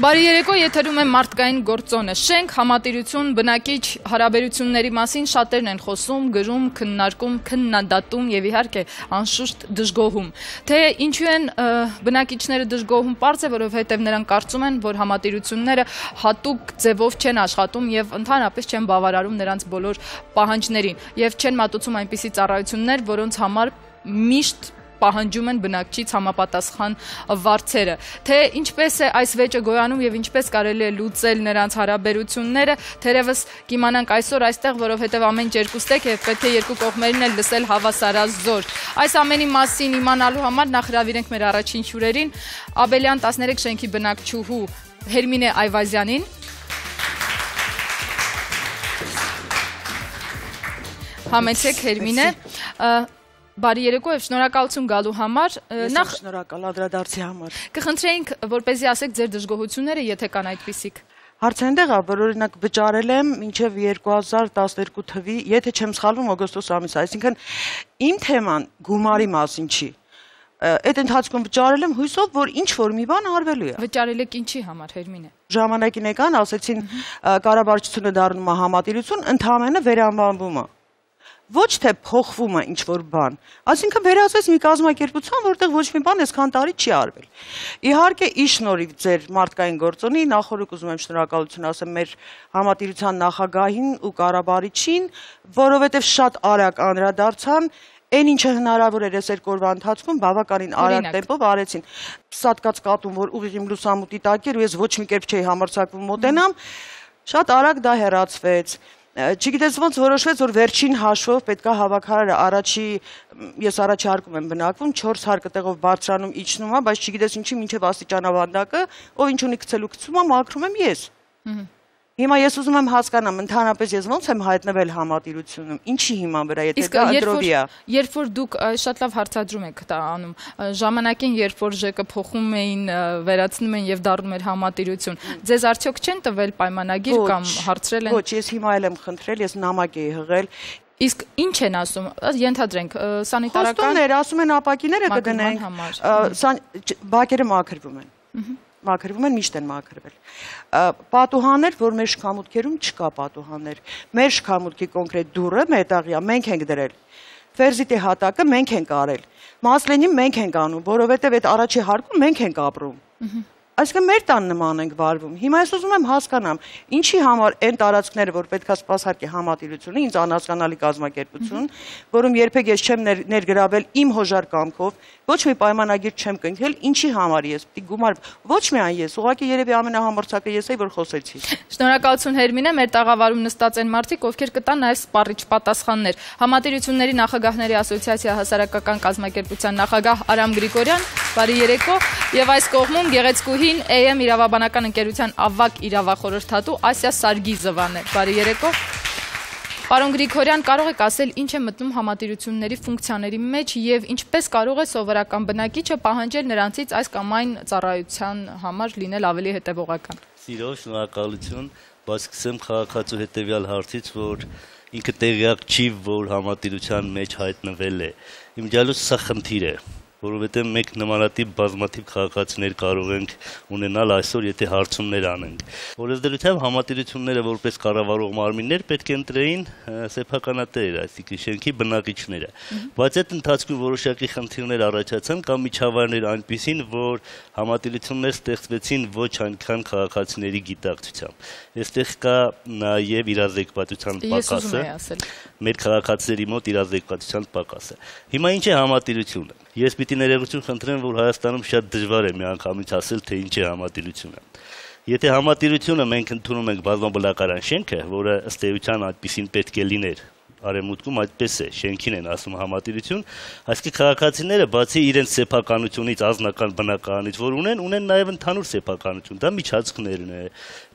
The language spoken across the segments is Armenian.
Բարի երեկո, եթերում է մարդկային գործոնը։ Շենք, համատիրություն, բնակիչ հարաբերությունների մասին շատերն են խոսում, գրում, քննարկում, քննադատում եւ իհարկե անշուշտ դժգոհում։ Թե ինչու են բնակիչները դժգոհում, պարզ է, որովհետեւ նրանք կարծում են, որ համատիրությունները հատուկ ձևով չեն աշխատում եւ ընդհանրապես չեն բավարարում նրանց բոլոր պահանջներին եւ չեն մատուցում այնպիսի ծառայություններ, որոնց համար միշտ պահանջում են բնակչից համապատասխան վարձերը։ Թե ինչպես է այս վեճը գոյանում եւ ինչպես կարելի է լուծել նրանց հարաբերությունները, թերևս կիմանանք այսօր այստեղ, որովհետեւ ամեն ինչ երկուստեք եւ պետք է երկու կողմերին էլ լսել հավասարազոր։ Այս ամենի մասին իմանալու համար նախ հրավիրենք մեր առաջին հյուրերին, Աբելյան 13 շենքի բնակչուհու Հերմինե Այվազյանին, համեցեք Հերմինե, Բարի երեկո եւ շնորհակալություն գալու համար։ Նախ շնորհակալ անդրադարձի համար։ Կխնդրեինք, որպեսզի ասեք ձեր դժգոհությունները, եթե կան այդպիսիք։ Հարցը այնտեղ է, որ օրինակ վճարել եմ մինչև 2012 թվականի, եթե չեմ սխալվում, օգոստոս ամիս, այսինքն իմ թեման գումարի մասին չի։ Այդ ընթացքում վճարել եմ հույսով, որ ինչ որ մի բան արվելու է։ Վճարել եք ինչի համար, Հերմինե։ Ժամանակին եկան, ասեցին կառավարությունը դառնում է համատիրություն, ընդհանրապես վերանվանվում է։ Ոչ թե փոխվում է ինչ-որ բան, այսինքն վերածվեց մի կազմակերպության, որտեղ ոչ մի բան այսքան տարի չի արվել։ Իհարկե, ի շնորհիվ ձեր մարդկային գործոնի, նախորդ ուզում եմ շնորհակալություն ասեմ մեր համատիրության նախագահին ու կառավարիչին, որովհետև շատ արագ անդրադարձան, այն ինչը հնարավոր էր այս երկու օրվա ընթացքում բավականին արագ տեմպով արեցին։ Սատկած կատուն, որ ուղիղ իմ լուսամուտի տակ էր ու ես ոչ մի կերպ չէի համարձակվում մոտենամ, շատ արագ դա հեռացվեց։ Չգիտես ոնց որոշվեց, որ վերջին հաշվով պետքա հավաքարարը ես առաջի հարկում եմ բնակվում, 4 հարկը տեղով բարձրանում իջնում է, բայց չգիտես ինչի մինչև աստիճանավանդակը, ով ինչ ունի գցելու գցում է, մաքրում եմ ես։ Հիմա ես ուզում եմ հասկանամ, ընդհանրապես ես ոնց եմ հայտնվել համատիրությունում, ինչի հիման վրա, եթե դա ընտրովի է։ Երբ որ դուք շատ լավ հարցադրում եք դա անում, ժամանակին երբ որ ԺԿ փոխում էին, վերացնում են եւ դառնում էր համատիրություն, ձեզ արդյոք չեն տվել պայմանագիր կամ հարցրել են։ Ոչ, ես հիմա էլ եմ խնդրել, ես նամակ էի հղել։ Իսկ ինչ են ասում, ենթադրենք, սանիտարական խոստումներ, ասում են ապակիները կգնենք, բակերը մաքրվում են։ Մաքրվում են, միշտ են մաքրվել։ Պատուհաններ, որ մեր շքամուտքերում չկա պատուհաններ։ Մեր շքամուտքի կոնկրետ դուռը մետաղյա, մենք ենք դրել։ Ֆերզիտի հատակը մենք ենք արել։ Մասլենին մենք ենք անում, որովհետև այդ առաջի հարկում մենք ենք ապրում։ Այսինքն մեր տան նման ենք վարվում։ Հիմա ես ուզում եմ հասկանամ, ինչի համար այն տարածքները, որ պետքա սպասարկի համատիրությունը, ինձ անհասկանալի կազմակերպություն, որում երբեք ես չեմ ներգրավել իմ հոժար կամքով, ոչ մի պայմանագիր չեմ կնքել, ինչի համար ես պիտի գումար, ոչ միայն ես, ուղղակի երևի ամենահամարձակը ես էի, որ խոսեցի։ Շնորհակալություն Հերմինե, մեր տաղավարում նստած են մարդիկ, ովքեր կտան նաև սպառիչ պատասխաններ։ Համատիրությունների նախագահների ասոցիացիա հասարակական կազմակերպության նախագահ Արամ Գրիգորյան, բարի երեկո, եւ այս կողմում գեղեցկուհին AM իրավաբանական ընկերության ավագ իրավախորհրդատու Ասիա Սարգիզովան է։ Բարի երեկո։ Պարոն Գրիգորյան, կարող եք ասել ինչ է մտնում համատիրությունների ֆունկցիաների մեջ եւ ինչպես կարող է սովորական բնակիչը պահանջել նրանցից այս կամ այն ծառայության համար լինել ավելի հետեւողական։ Սիրով շնորհակալություն, բայց սկսեմ քաղաքացու հետեւյալ հարցից, որ ինքը տեղյակ չի, որ համատիրության մեջ հայտնվել է։ Իմ ջալուս սա խնդիր է, որովհետև մենք նմանատիպ բազմաթիվ քաղաքացիներ կարող ենք ունենալ այսօր, եթե հարցումներ անենք։ Օրենսդրությամբ համատիրությունները որպես կառավարող մարմիններ պետք է ընտրեին սեփականատեր, այսինքն շենքի բնակիչները։ Բայց այդ ընթացքում որոշակի խնդիրներ առաջացան կամ միջավայրներ այնպիսին, որ համատիրություններ ստեղծվեցին ոչ այնքան քաղաքացիների գիտակցությամբ։ Այստեղ կա նաև իրազեկվածության պակասը։ Մեր քաղաքացիների մոտ իրազեկվածության պակասը։ Հիմա ինչ է համատիրությունը։ Ես պիտի ներողություն խնդրեմ, որ Հայաստանում շատ դժվար է միանգամից ասել, թե ինչ է համատիրությունը։ Եթե համատիրությունը մենք ընդունում ենք բազմաբնակարան շենքը, որը ըստ էության այդպեսին պետք է լիներ, արևմուտքում այդպես է, շենքին են ասում համատիրություն, այսինքն քաղաքացիները բացի իրենց սեփականությունից, անձնական բնակարանից, որ ունեն նաև ընդհանուր սեփականություն, դա միջանցքներն է,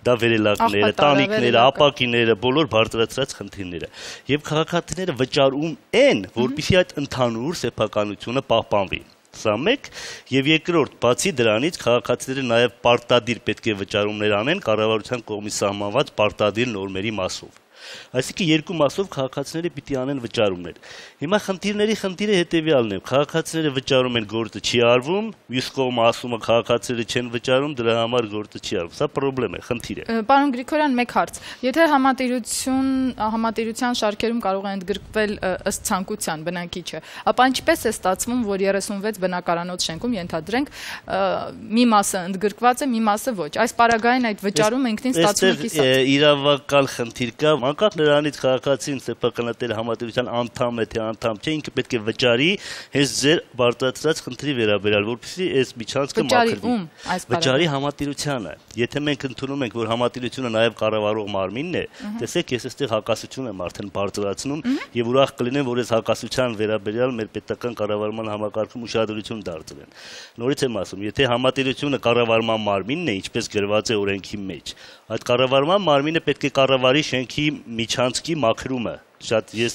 դա վերելակները, տանիքները, ապակիները, բոլոր բարձրացրած խնդիրները։ Եվ քաղաքացիները վճարում են, որպեսզի այդ ընդհանուր սեփականությունը պահպանվի։ Սա մեկ, եւ երկրորդ, բացի դրանից քաղաքացիները նաև պարտադիր պետք է վճարումներ անեն կառավարության կողմից սահմանված պարտադիր նորմերի մասով։ Այսինքն երկու մասով քաղաքացիները պիտի անեն վճարումներ։ Հիմա խնդիրը հետևյալն է, քաղաքացիները վճարում են, գործը չի արվում, մյուս կողմը ասում է քաղաքացիները չեն վճարում, դրա համար գործը չի արվում։ Սա խնդրեմ է, խնդիր է։ Պարոն Գրիգորյան, մեկ հարց։ Եթե համատիրության շարքերում կարող է ընդգրկվել ըստ ցանկության բնակիչը, ապա ինչպես է ստացվում, որ 36 բնակարանոց շենքում ենթադրենք մի մասը ընդգրկված է, մի մասը ոչ։ Այս պարագային այդ վճարումը ինքնին ստացվում է կիսած։ Իրավական խնդիր կա, անկախ նրանից քաղաքացին սեփականատեր համատիրության անդամ է թե անդամ չէ, ինքը պետք է վճարի հենց ձեր բարձրացրած խնդրի վերաբերյալ, որպեսզի այս միջանցքը մաքրվի։ Վճարի համատիրությանը։ Եթե մենք ընդունում ենք, որ համատիրությունը նաև կառավարող մարմինն է, տեսեք, ես այստեղ հակասություն եմ արդեն բարձրացնում եւ ուրախ կլինեմ, որ այս հակասության վերաբերյալ մեր պետական կառավարման համակարգում ուշադրություն դարձվեն։ Նորից եմ ասում, եթե համատիրությունը կառավարման մարմինն է, ինչպես գրված է օրենքի մեջ, այդ կառավարման մարմինը պետք է կառավարի շենքի միջանցքի մաքրումը։ Շատ ես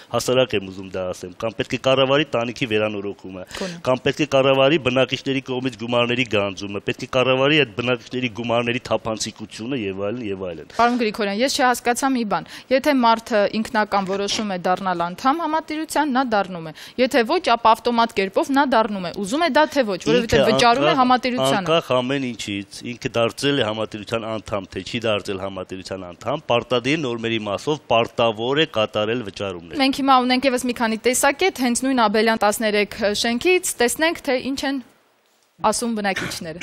հասարակ եմ ուզում դա ասեմ, կամ պետք է կառավարի տանիքի վերանորոգումը, կամ պետք է կառավարի բնակիչների կողմից գումարների գանձումը, պետք է կառավարի այդ բնակիչների գումարների թափանցիկությունը եւ այլն եւ այլն։ Պարոն Գրիգորյան, ես չհասկացա մի բան։ Եթե մարդը ինքնական որոշում է դառնալ անդամ համատիրության, նա դառնում է։ Եթե ոչ, ապա ավտոմատ կերպով նա դառնում է։ Ուզում է դա թե ոչ, որովհետեւ վճարում է համատիրությանը։ Անկախ ամեն ինչից, ինքը դարձել է համատիրության անդամ, թե չի դարձել համատիրության անդամ, պարտադիր նորմերի մասով պարտավոր է կատարել վճարումներ։ Մենք հիմա ունենք եւս մի քանի տեսակետ, հենց նույն Աբելյան 13 շենքից, տեսնենք, թե ինչ են ասում բնակիչները։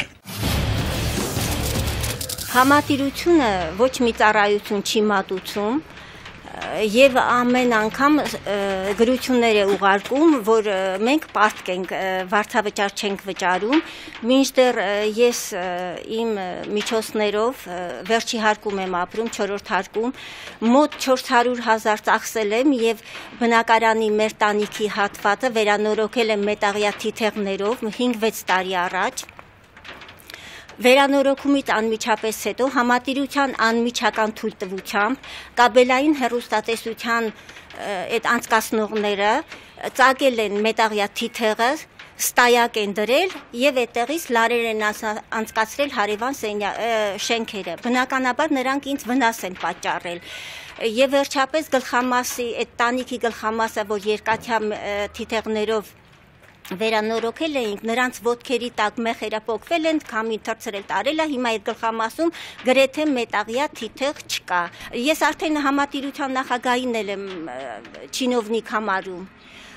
Համատիրությունը ոչ մի ծառայություն չի մատուցում եւ ամեն անգամ գրություններ է ուղարկում, որ մենք պարտք ենք, վարձավճար չենք վճարում, մինչդեռ ես իմ միջոցներով վերջի հարկում եմ ապրում, 4-րդ հարկում, մոտ 400,000 ծախսել եմ եւ բնակարանի մեր տանիքի հատվածը վերանորոգել եմ մետաղյա թիթեղներով 5-6 տարի առաջ։ Վերանորոգումից անմիջապես հետո համատիրության անմիջական թույլտվությամբ կաբելային հեռուստատեսության այդ անցկացնողները ծագել են մետաղյա թիթեղը, ստայակ են դրել եւ այդտեղից լարեր են անցկացրել հարևան շենքերը։ Բնականաբար նրանք ինձ վնաս են պատճառել։ Եվ վերջապես գլխամասի այդ տանիքի գլխամասը, որ երկաթյա թիթեղներով վերանորոգել էինք, նրանց ոտքերի տակ մեխերը պոկվել են, քամին թռցրել տարել է, հիմա այդ գլխամասում գրեթե մետաղյա թիթեղ չկա։ Ես արդեն համատիրության նախագահին եմ չինովնիկ համարում։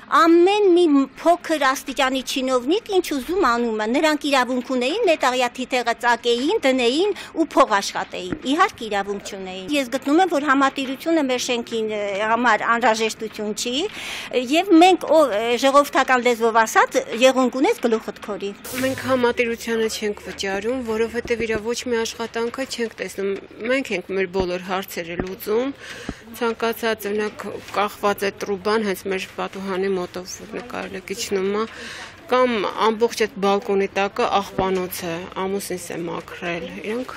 Ամեն մի փոքր աստիճանի չինովնիկ ինչ ուզում անում է, նրանք իրավունք ունեին մետաղյա թիթեղը ծակեին, դնեին ու փող աշխատեին։ Իհարկե իրավունք չունեին։ Ես գտնում եմ, որ համատիրությունը մեր շենքի համար անհրաժեշտություն չի, եւ մենք ժողովրդական լեզվով ասած եղունգ ունես գլուխդ քորի։ Մենք համատիրությանը չենք վճարում, որովհետեւ իր ոչ մի աշխատանքը չենք տեսնում։ Մենք ենք մեր բոլոր հարցերը լուծում։ Ցանկացած օրինակ կախված է տրուբան հենց մեր պատուհանի մոտով նկարել է իջնում է կամ ամբողջ այդ բալկոնի տակը աղբանոց է ամուսինս է մաքրել իրանք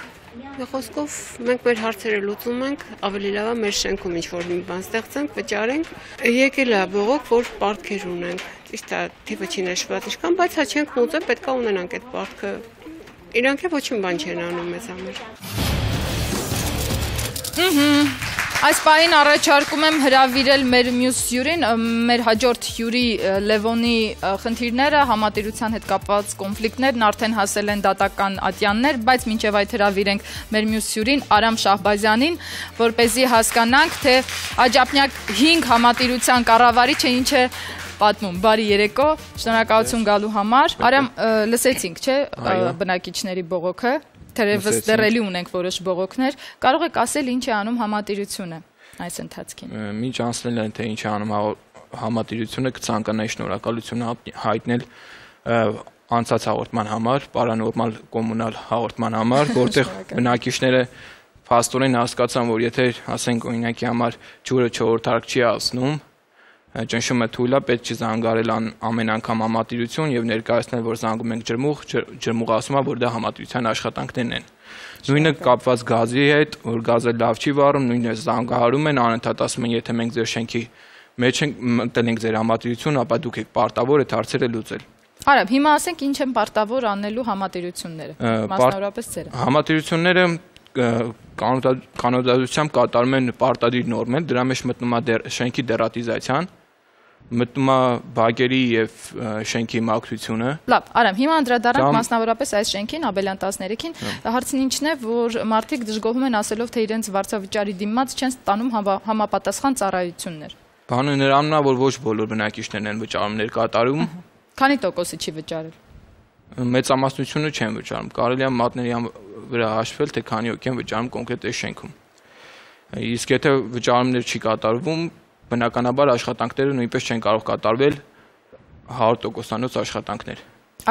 խոսքով մենք մեր հարցերը լուծում ենք ավելի լավ է մեր շենքում ինչ որ մի բան ստեղծենք վճարենք եկել է բողոք որ պարտքեր ունենք ճիշտ է թիվը չի նշված ինչքան բայց հա չենք լուծել պետք է ունենանք այդ պարտքը իրանք է ոչ մի բան չեն անում մեզ համար Այս պահին առաջարկում եմ հրավիրել մեր մյուս հյուրին, մեր հաջորդ հյուրի Լևոնի խնդիրները, համատիրության հետ կապված կոնֆլիկտներն արդեն հասել են դատական ատյաններ, բայց մինչև այդ հրավիրենք մեր մյուս հյուրին Արամ Շահբազյանին, որպեսզի հասկանանք, թե Աջափնյակ 5 համատիրության կառավարիչը ինչ է պատմում։ Բարի երեկո, շնորհակալություն գալու համար։ Արամ, լսեցինք, չէ, բնակիչների բողոքը։ Թերևս դեռ ունենք որոշ բողոքներ, կարող եք ասել ինչ է անում համատիրությունը այս ընթացքին։ Մինչ անցնել են թե ինչ է անում համատիրությունը, կցանկանայի շնորհակալություն հայտնել անցած հաղորդման համար, պարանորմալ կոմունալ հաղորդման համար, որտեղ բնակիչները փաստորեն հասկացան, որ եթե ասենք օրինակի համար ջուրը 4-րդ հարկ չի ասնում, ճնշումը թույլ է, պետք չի զանգարել ամեն անգամ համատիրություն եւ ներկայացնել, որ զանգում ենք ջրմուղ ասում է, որ դա համատիրության աշխատանքներն են։ Նույնը կապված գազի հետ, որ գազը լավ չի վառում, նույնը զանգահարում են, անընդհատ ասում են, եթե մենք ձեր շենքի մեջ ենք մտել ենք ձեր համատիրություն, ապա դուք եք պարտավոր այդ հարցերը լուծել։ Արամ, հիմա ասենք ինչ են պարտավոր անելու համատիրությունները, մասնավորապես ձերը։ Համատիրությունները կանոնադրությամբ կատարում են պարտադիր նորմեր, դրա մեջ մտնում է շենքի դերատիզացիան, մտնում է բակերի եւ շենքի մաքրությունը։ Լավ, Արամ, հիմա անդրադառնանք մասնավորապես այս շենքին, Աբելյան 13-ին, հարցն ինչն է, որ մարդիկ դժգոհում են ասելով, թե իրենց վարձավճարի դիմաց չեն ստանում համապատասխան ծառայություններ։ Բանը նրանն է, որ ոչ բոլոր բնակիչներն են վճարումներ կատարում։ Քանի տոկոսը չի վճարել։ Մեծամասնությունը չեն վճարում։ Կարելի է մատների վրա հաշվել, թե քանի հոգի են վճարում կոնկրետ այս շենքում։ Իսկ եթե վճարումներ չի կատարվում, բնականաբար աշխատանքները նույնպես չեն կարող կատարվել 100%-անոց աշխատանքներ։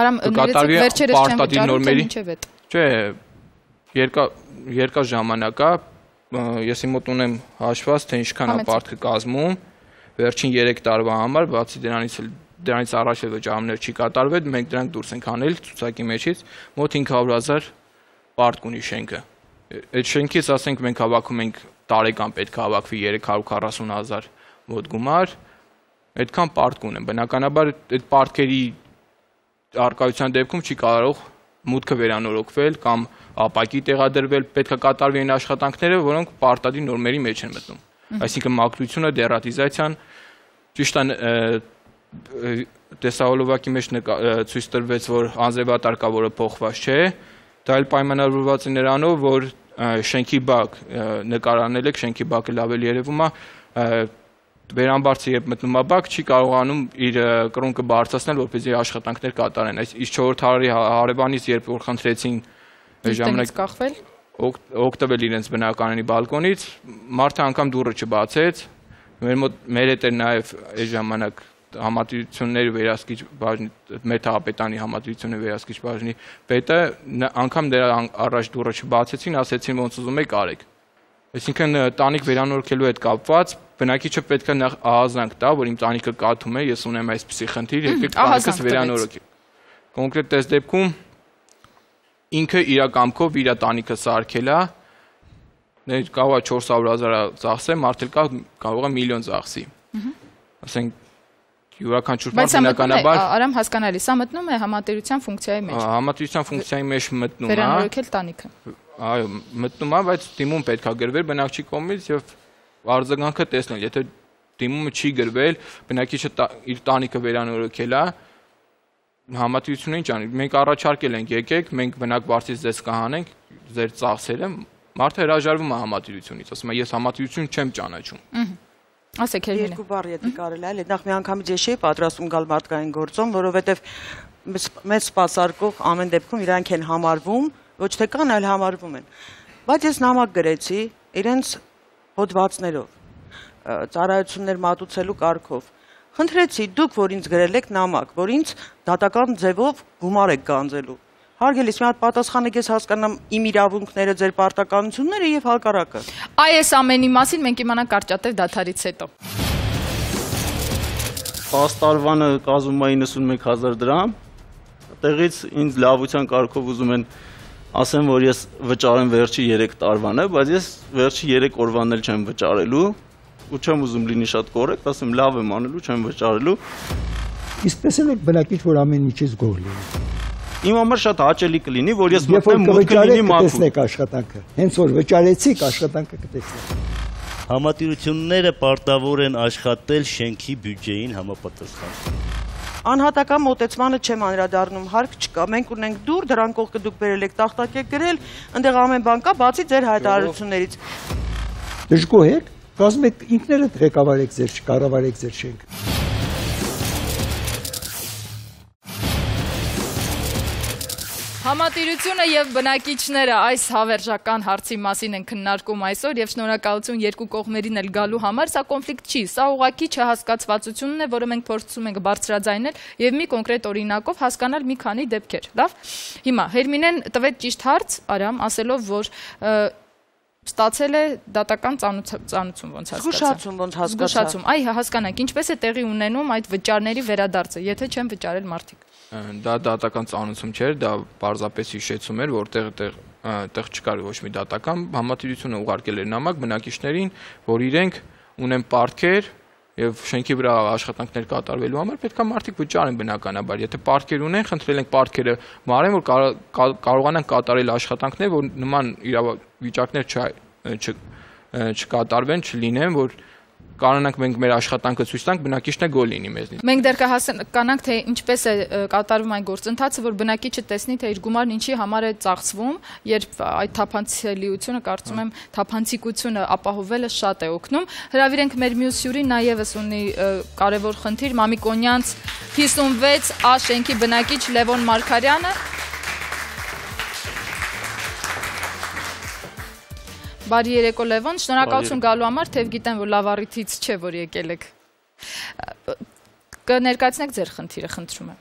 Արամ, ներեցեք վերջերս չեն վճարում, թե ինչև է։ Չէ, երկար ժամանակ է, ես իմ մոտ ունեմ հաշված, թե ինչքան է պարտքը կազմում, վերջին 3 տարվա համար, բացի դրանից առաջ վճարումներ չի կատարվել, մենք դրանք դուրս ենք անել ցուցակի մեջից, մոտ 500,000 պարտ ունի շենքը։ Այդ շենքից ասենք մենք հավաքում ենք տարեկան պետք է հավաքվի 340,000 մոտ գումար, այդքան պարտ ունեն։ Բնականաբար այդ պարտքերի արկայության դեպքում չի կարող մուտքը վերանորոգվել կամ ապակի տեղադրվել, պետք է կատարվի այն աշխատանքները, որոնք պարտադիր նորմերի մեջ են մտնում։ Այսինքն մաքրությունը, դերատիզացիան, ճիշտ է տեսահոլովակի մեջ ցույց տրվեց, որ անձրևատար կա, որը փոխված չէ, դա էլ պայմանավորված է նրանով, որ շենքի բակ նկարանել եք, շենքի բակը լավ էլ երևում է, վերամբարձը երբ մտնում է բակ, չի կարողանում իր կրունկը բարձրացնել, որպեսզի աշխատանքներ կատարեն։ Այս 4 տարի հարևանից երբ որ խնդրեցին ժամանակ կախվել, օգտվել իրենց բնակարանի բալկոնից, մարդը անգամ դուռը չբացեց, մեր հետ էր նաև այս ժամանակ համատիրությունների վերահսկիչ բաժնի Մեթապետանի համատիրությունների վերահսկիչ բաժնի պետը անգամ դրա առաջ դուռը չբացեցին, ասեցին ոնց ուզում եք արեք։ Այսինքն տանիք վերանորոգելու հետ կապված բնակիչը պետք է նախ ահազանգ տա, որ իմ տանիքը կաթում է, ես ունեմ այսպիսի խնդիր, եկեք տանիքս վերանորոգի։ Կոնկրետ այս դեպքում ինքը իր կամքով իր տանիքը սարքել է, կարող է 400,000 ծախսել, մարդը կարող է միլիոն ծախսի։ Ասենք յուրաքանչյուր մարդ բնականաբար Արամ հասկանալի, սա մտնում է համատիրության ֆունկցիայի մեջ։ Համատիրության ֆունկցիայի մեջ մտնում է։ Վերանորոգել տանիքը։ Այո, մտնում է, բայց դիմում պետք է գրվել բնակչի կողմից եւ արձագանքը տեսնել, եթե դիմումը չի գրվել, բնակիչը իր տանիքը վերանորոգել է, համատիրությունը ինչ անի, մենք առաջարկել ենք, եկեք, մենք բնակ վարձից ձեզ կհանենք, ձեր ծախսերը, մարդը հրաժարվում է համատիրությունից, ասում է, ես համատիրություն չեմ ճանաչում։ Ասեք Հերմինե։ Երկու բառ եթե կարելի է, նախ մի անգամից ես չէի պատրաստում գալ մարդկային գործում, որովհետև մեծ սպասարկող ամեն դեպքում իրանք են համարվում, ոչ թե կան, այլ համարվում են։ Բայց ես նամակ գրեցի իրենց հոդվածներով, ծառայություններ մատուցելու կարգով։ Խնդրեցի դուք, որ ինձ գրել եք նամակ, որ ինձ դատական ձևով գումար եք գանձելու։ Հարգելիս, մի հատ պատասխանեք, ես հասկանամ իմ իրավունքները, ձեր պարտականությունները եւ հակառակը։ Այս ամենի մասին մենք իմանանք կարճատև դադարից հետո։ 10 տարվանը կազմում է 91,000 դրամ։ Տեղից ինձ լավության կարգով ուզում են ասեմ, որ ես վճարեմ վերջի 3 տարվանը, բայց ես վերջի 3 օրվան էլ չեմ վճարելու ու չեմ ուզում լինի շատ կորեկտ, ասեմ լավ եմ անելու, չեմ վճարելու։ Իսպես էլ եք բնակիչ, որ ամեն ինչից գոհ լինի։ Իմ համար շատ հաճելի կլինի, որ ես մտնեմ մուտքը լինի մաքուր։ Տեսնեք աշխատանքը։ Հենց որ վճարեցիք, աշխատանքը կտեսնեք։ Համատիրությունները պարտավոր են աշխատել շենքի բյուջեին համապատասխան։ Անհատական մոտեցմանը չեմ անդրադառնում, հարկ չկա։ Մենք ունենք դուր, դրան կողքը դուք բերել եք, տախտակ եք գրել, այնտեղ ամեն բան կա, բացի ձեր հայտարարություններից։ Դժգոհ եք, կազմեք ինքներդ ղեկավարեք ձեր, կառավարեք ձեր շենքը։ Համատիրությունը եւ բնակիչները այս հավերժական հարցի մասին են քննարկում այսօր եւ շնորհակալություն երկու կողմերին էլ գալու համար, սա կոնֆլիկտ չի, սա ուղղակի չհասկացվածությունն է, որը մենք փորձում ենք բարձրաձայնել եւ մի կոնկրետ օրինակով հասկանալ մի քանի դեպքեր, լավ։ Հիմա Հերմինեն տվեց ճիշտ հարց, Արամ, ասելով, որ ստացել է դատական ծանուցում ոնց հասկացա։ Զգուշացում ոնց հասկացա։ Զգուշացում, այ հասկանանք, ինչպես է տեղի ունենում այդ վճարների վերադարձը, եթե չեն վճարել մարդիկ։ Դա դատական ծանուցում չէր, դա պարզապես հիշեցում էր, որտեղ տեղ չկար ոչ մի դատական, համատիրությունը ուղարկել էր նամակ բնակիչներին, որ իրենք ունեն պարտքեր եւ շենքի վրա աշխատանքներ կատարվելու համար պետք է մարդիկ վճարեն բնականաբար։ Եթե պարտքեր ունեն, խնդրել ենք պարտքերը մարեն, որ կարողանան կատարել աշխատանքներ, որ նման իրավիճակներ չկատարվեն, չլինեն, որ կարողանանք մենք մեր աշխատանքը ցույց տանք, բնակիչն է գոլ լինի մեզնից։ Մենք դեռ կհասկանանք, թե ինչպես է կատարվում այն գործընթացը, որ բնակիչը տեսնի, թե իր գումարն ինչի համար է ծախսվում, երբ այդ թափանցելիությունը, կարծում եմ, թափանցիկությունը ապահովելը շատ է օգնում։ Հրավիրենք մեր մյուս հյուրին, նա եւս ունի կարևոր խնդիր, Մամիկոնյանց 56 A շենքի բնակիչ Լևոն Մարգարյանը։ Բարի երեկո Լևոն, շնորհակալություն գալու համար, թեև գիտեմ, որ լավ առիթից չէ, որ եկել եք։ Կներկայացնեք ձեր խնդիրը, խնդրում եմ։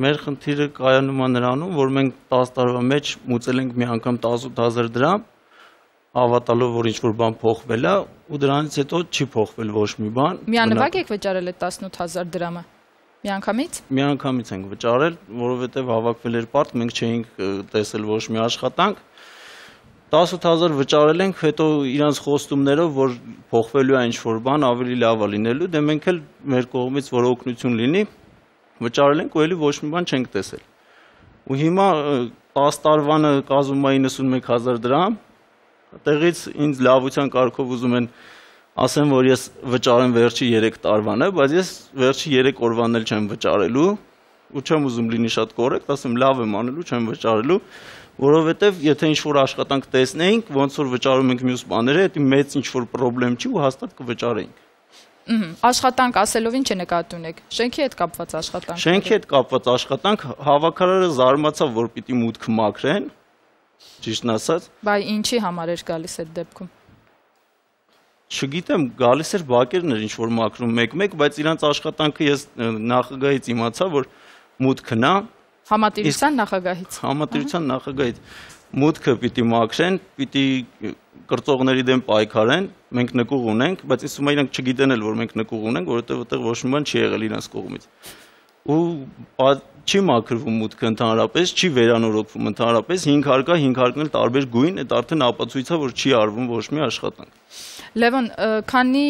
Մեր խնդիրը կայանում է նրանում, որ մենք 10 տարվա մեջ մուծել ենք մի անգամ 18000 դրամ, հավատալով, որ ինչ-որ բան փոխվել է, ու դրանից հետո չի փոխվել ոչ մի բան։ Միանվագ եք վճարել այդ 18000 դրամը։ Միանգամից։ Միանգամից ենք վճարել, որովհետև հավաքվել էր պարտ, մենք չէինք տեսել ոչ մի աշխատանք։ 18000 վճարել ենք, հետո իրանց խոստումներով, որ փոխվելու է ինչ-որ բան, ավելի լավ է լինելու, դե մենք էլ մեր կողմից, որ օգնություն լինի, վճարել ենք ու էլի ոչ մի բան չենք տեսել։ Ու հիմա 10 տարվանը կազմում է 91000 դրամ, տեղից ինձ լավության կարգով ուզում են ասեմ, որ ես վճարեմ վերջի 3 տարվանը, բայց ես վերջի 3 օրվան էլ չեմ վճարելու, ու չեմ ուզում լինի շատ կորեկտ, ասեմ լավ եմ անելու, չեմ վճարելու, որովհետև եթե ինչ-որ աշխատանք տեսնեինք, ոնց որ վճարում ենք մյուս բաները, դա մեծ ինչ-որ խնդրեմ չի ու հաստատ կվճարեինք։ Աշխատանք ասելով ինչ է նկատի ունեք։ Շենքի հետ կապված աշխատանք։ Շենքի հետ կապված աշխատանք, հավաքարարը զարմացավ, որ պիտի մուտքը մաքրեն, ճիշտն ասած։ Բայց ինչի համար էր գալիս այդ դեպքում։ Չգիտեմ, գալիս էր բակերն էր ինչ-որ մաքրում մեկ-մեկ, բայց իրանց աշխատանքը ես նախագահից իմացա, որ մուտքն է։ Համատիրության նախագահից։ Համատիրության նախագահից մուտքը պիտի մաքրեն, պիտի կրծողների դեմ պայքարեն, մենք նկուղ ունենք, բայց ինձ թվում է իրանք չգիտեն էլ, որ մենք նկուղ ունենք, որովհետև այդտեղ ոչ մի բան չի եղել իրանց կողմից։ Ու չի մաքրվում մուտքը ընդհանրապես, չի վերանորոգվում ընդհանրապես, 5 հարկա, 5 հարկն էլ տարբեր գույն, այդ արդեն ապացույց է, որ չի արվում ոչ մի աշխատանք։ Լևոն, քանի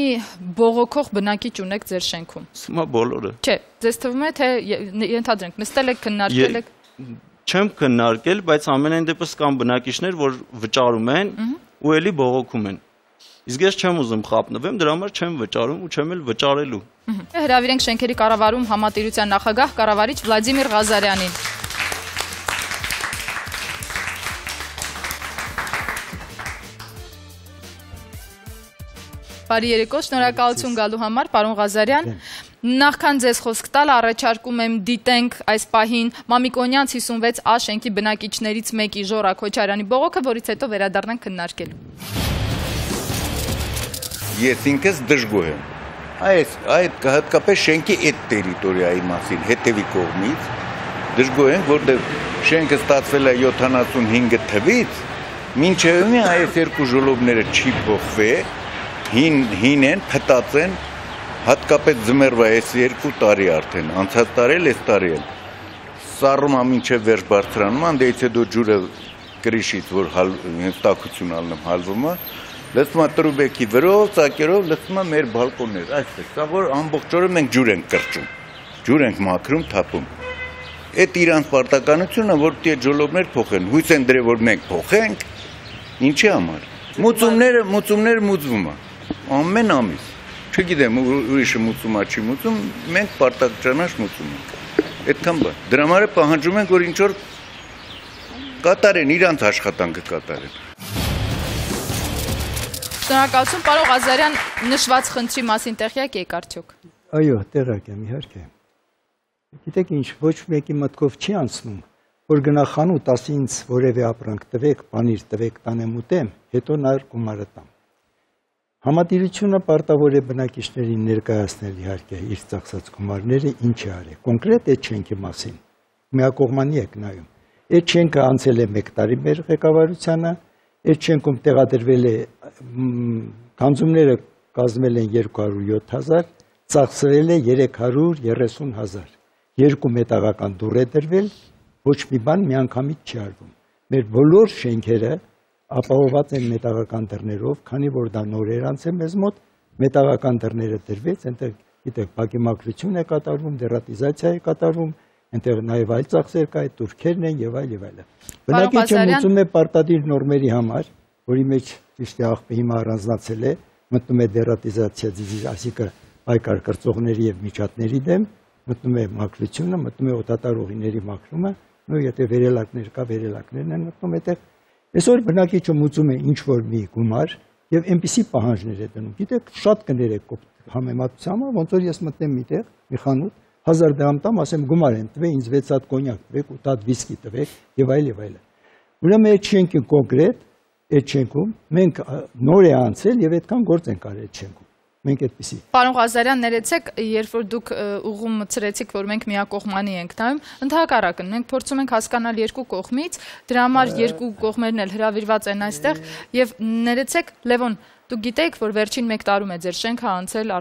բողոքող բնակիչ ունեք ձեր շենքում։ Սա բոլորը։ Չէ, ձեզ թվում է, թե ենթադրենք, նստել եք, քննարկել եք։ Չեմ քննարկել, բայց ամենայն դեպս կան բնակիչներ, որ վճարում են ու էլի բողոքում են։ Իսկ ես չեմ ուզում խափնվեմ, դրա համար չեմ վճարում ու չեմ էլ վճարելու։ Հրավիրենք շենքերի կառավարում համատիրության նախագահ կառավարիչ Վլադիմիր Ղազարյանին։ Բարի երեկո, շնորհակալություն գալու համար, պարոն Ղազարյան։ Նախքան ձեզ խոսք տալ, առաջարկում եմ դիտենք այս պահին Մամիկոնյանց 56 A շենքի բնակիչներից մեկի Ժորա Քոչարյանի բողոքը, որից հետո վերադառնանք քննարկելու։ Ես ինքս դժգոհ եմ։ Այդ հատկապես շենքի այդ տերիտորիայի մասին հետևի կողմից դժգոհ եմ, որտեղ շենքը ստացվել է 75 թվից, մինչև մի այս երկու ժոլոբները չի փոխվել, հին են, փտած են, հատկապես ձմեռվա այս 2 տարի արդեն, անցած տարի էլ, այս տարի էլ։ Սառում է մինչև վերջ բարձրանում, անդեից հետո ջուրը կրիշից, որ տաքություն ալնում հալվում է, լսում է տրուբեկի վրով, ծակերով, լսում է մեր բալկոններ, այսպես, սա որ ամբողջ օրը մենք ջուր ենք կրճում, ջուր ենք մաքրում, թափում։ Այդ իրանց պարտականությունը, որ այդ ժոլոբներ փոխեն, հույս են դրել, որ մենք փոխենք, ինչի համար։ Մուծումները մուծվում է, ամեն ամիս, չգիտեմ ուրիշը մուծում է, չի մուծում, մենք պարտականաշ մուծում ենք, այդքան բան։ Դրա համար պահանջում ենք, որ ինչ-որ կատարեն, իրանց աշխատանքը կատարեն։ Շնորհակալություն, պարոն Ղազարյան, նշված խնդրի մասին տեղյակ եք արդյոք։ Այո, տեղյակ եմ, իհարկե։ Գիտեք ինչ, ոչ մեկի մտքով չի անցնում, որ գնա խանութ, ասի ինձ որևէ ապրանք տվեք, պանիր տվեք, տանեմ ուտեմ, հետո նա գումարը տամ։ Համատիրությունը պարտավոր է բնակիչներին ներկայացնել իհարկե իր ծախսած գումարները ինչ է արել։ Կոնկրետ այդ շենքի մասին միակողմանի եք նայում։ Այդ շենքը անցել է 1 տարի մեր ղեկավարությանը, այդ շենքում տեղադրվել է գանձումները կազմել են 207,000, ծախսվել է 330,000։ 2 մետաղական դուռ է դրվել, ոչ մի բան միանգամից չի արվում։ Մեր բոլոր շենքերը ապահովված են մետաղական դռներով, քանի որ դա նոր էր անցել մեզ մոտ, մետաղական դռները դրվեց, այնտեղ գիտեք, բակի մաքրություն է կատարվում, դերատիզացիա է կատարվում, այնտեղ նաև այլ ծախսեր կա, այդ турքերն են եւ այլ եւ այլը։ Բնակիչը մուծում է պարտադիր նորմերի համար, որի մեջ ճիշտ է աղբը հիմա առանձնացել է, մտնում է դերատիզացիա, այսինքն պայքար կրծողների եւ միջատների դեմ, մտնում է մաքրությունը, մտնում է օդատար ուղիների մաքրումը, նույն եթե վերելակներ կա, վերելակներն են մտնում այդտեղ։ Այսօր բնակիչը մուծում է ինչ որ մի գումար եւ այնպիսի պահանջներ է դնում։ Գիտեք, շատ կներեք համեմատությամբ, ոնց որ ես մտնեմ միտեղ, մի խանութ 1000 դրամ տամ, ասեմ գումար եմ տվեք, ինձ 6 հատ կոնյակ տվեք, 8 հատ վիսկի տվեք եւ այլ եւ այլն։ Ուրեմն այդ շենքը կոնկրետ, այդ շենքում մենք նոր է անցել եւ այդքան գործ ենք արել այդ շենքում։ Մենք այդպեսի։ Պարոն Ղազարյան, ներեցեք, երբ որ դուք ուղում մցրեցիք, որ մենք միակողմանի ենք նայում, ընդհակառակն մենք փորձում ենք հասկանալ երկու կողմից, դրա համար երկու կողմերն էլ հրավիրված են այստեղ եւ ներեցեք, Լևոն, դուք գիտեք, որ վերջին 1 տարում է ձեր շենքը անցել